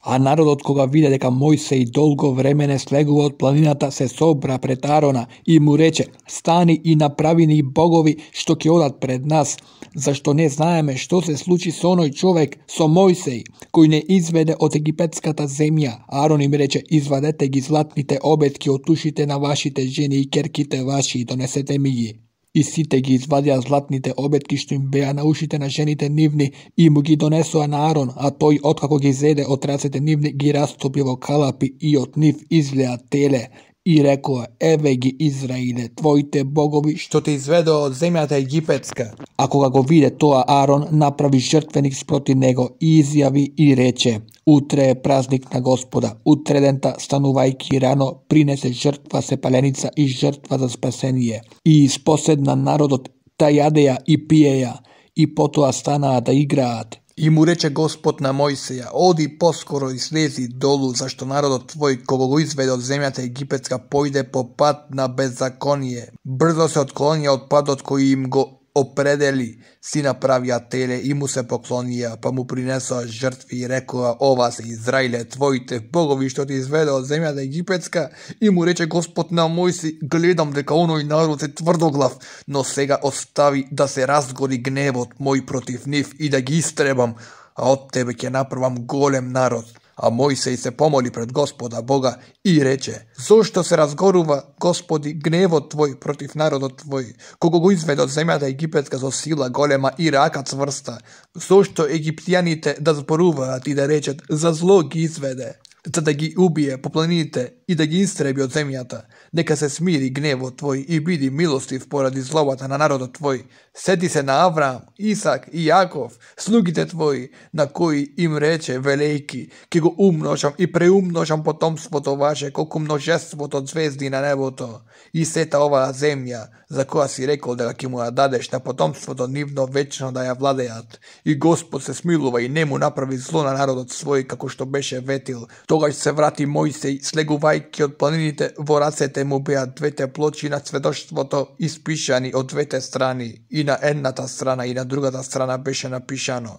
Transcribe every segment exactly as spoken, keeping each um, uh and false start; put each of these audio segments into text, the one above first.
А народот кога виде дека Мојсей долго време не слегува од планината, се собра пред Арона и му рече: стани и направи ни богови што ќе одат пред нас, зашто не знаеме што се случи со оној човек, со Мојсей, кој не изведе од египетската земја. Арон им рече: извадете ги златните обетки од ушите на вашите жени и керките ваши и донесете ми ги. И сите ги извадија златните обетки што им беа на ушите на жените нивни и му ги донесоа на Арон, а тој откако ги зеде од рацете нивни ги растопи во калапи и од нив излеа теле. И рекоа: еве ги Израиле, твоите богови што те изведоа од земјата египетска. А кога го виде тоа, Арон направи жртвеник спроти него и изјави и рече: утре е празник на Господа, утредента станувајќи рано принесе жртва сепаленица и жртва за спасение. И испоседна народот да јадеја и пиеја, и потоа станаа да играат. И му рече Господ на Мојсеја: оди поскоро и слези долу, зашто народот твој, кога го изведе од земјата египетска, појде по пат на беззаконие. Брзо се отклонија од патот кој им го определи, си направија теле и му се поклонија, па му принесоа жртви и рекоа: ова се Израиле, твоите богови што ти изведе од земјата египетска. И му рече Господ на Мојсей: гледам дека оној народ е тврдоглав, но сега остави да се разгори гневот мој против нив и да ги истребам, а од тебе ќе направам голем народ. А Мојсей се помоли пред Господа Бога и рече: зошто се разгорува, Господи, гневот твој против народот твој, кога го изведе од земјата египетска со сила голема и рака цврста? Зошто египтјаните да зборуваат и да речат: за зло ги изведе, за да ги убие по планините и да ги истреби од земјата? Нека се смири гневот твој и биди милостив поради злобата на народот твој. Сети се на Авраам, Исак и Јаков, слугите твои, на кои им рече велејки: ќе го умножам и преумножам потомството ваше колку множеството од звезди на небото. И сета оваа земја, за која си рекол дека ќе му ја дадеш на потомството нивно вечно да ја владеат. И Господ се смилува и не му направи зло на народот свој, како што беше ветил. Тогаш се врати Мојсей, слегувајќи од планините, во рацете му беа двете плочи на сведоштвото испишани од двете страни. И на едната страна и на другата страна беше напишано.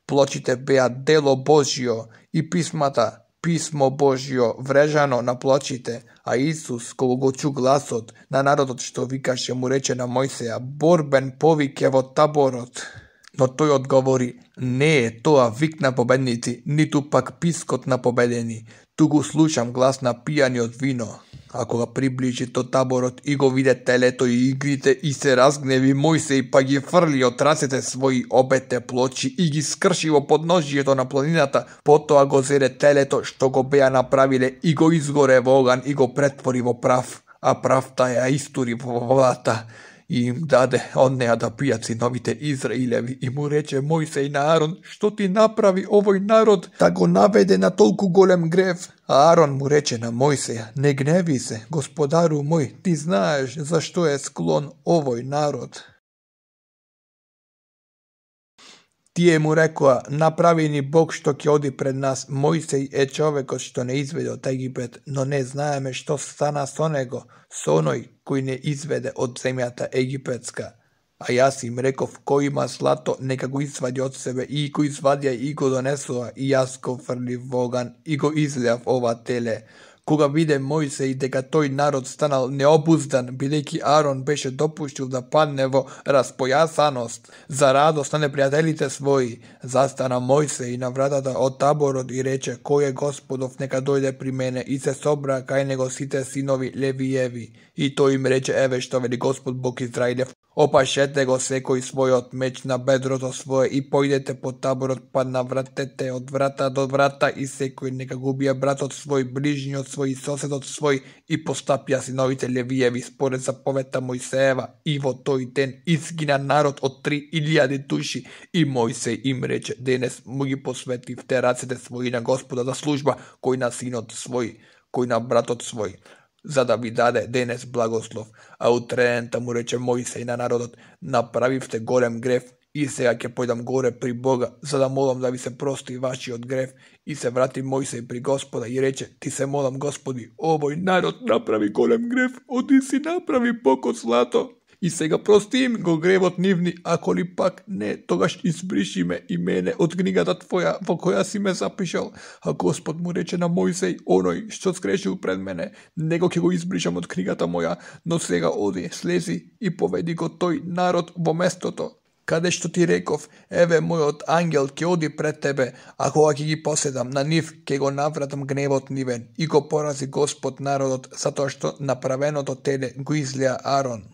Плочите беа дело Божјо и писмата Писмо Божјо врежано на плочите, а Исус, кога го чу гласот на народот што викаше, му рече на Мојсеја: борбен повик е во таборот. Но тој одговори: не е тоа вик на победници, ниту пак пискот на победени, туку слушам глас на пијани од вино. А кога приближи до таборот и го виде телето и игрите, и се разгневи Мојсей, па ги фрли од рацете своји обете плочи и ги скрши во подножието на планината. Потоа го зеде телето што го беа направиле и го изгоре во оган и го претвори во прав, а правта ја истури во водата и им даде од неа да пијат синовите Израилеви. И му рече Мојсей на Арон: што ти направи овој народ да го наведе на толку голем грев? А Арон му рече на Мојсеја: не гневи се, Господару мој, ти знаеш зашто е склон овој народ. Тие му рекоа: направи ни Бог што ќе оди пред нас. Мојсей е човекот што не изведе од Египет, но не знаеме што стана со него, со оној кој не изведе од земјата египетска. А јас им реков: кој има злато, нека го извади од себе, и кој извадија и го донесоа, и јас го фрлив во оган и го излеав ова теле. Кога виде Мојсей дека тој народ станал необуздан, бидејќи Арон беше допуштил да падне во распојасаност за радост на непријателите своји, застана Мојсей на вратата од таборот и рече: кој е Господов, нека дојде при мене. И се собра кај него сите синови Левиеви. И тој им рече: еве што вели Господ Бог Израилев: опашете го секој својот меч на бедрото свое и појдете по таборот, па навратете од врата до врата, и секој нека го убие братот свој, ближниот свој и соседот свој. И постапија синовите Левиеви според заповедта Мојсеева, и во тој ден изгина народ од три илјади души. И Мојсей им рече: денес му ги посветивте рацете своји на Господа за служба, кој на синот свој, кој на братот свој, за да ви даде денес благослов. А утредента му рече Мојсей на народот: направивте голем грев, и сега ќе појдам горе при Бога, за да молам да ви се прости вашиот грев. И се врати Мојсей при Господа и рече: ти се молам, Господи, овој народ направи голем грев, оди си направи Бог од злато И сега прости им го гревот нивни, ако ли пак не, тогаш избриши ме и мене од книгата твоја во која си ме запишал. А Господ му рече на Мојсей, оној што скрешил пред мене, него ќе го избришам од книгата моја, но сега оди, слези и поведи го тој народ во местото каде што ти реков, еве мојот ангел ќе оди пред тебе, а кога ќе ги поседам на нив, ќе го навратам гневот нивен и го порази Господ народот, затоа што направеното теле го излеа Арон.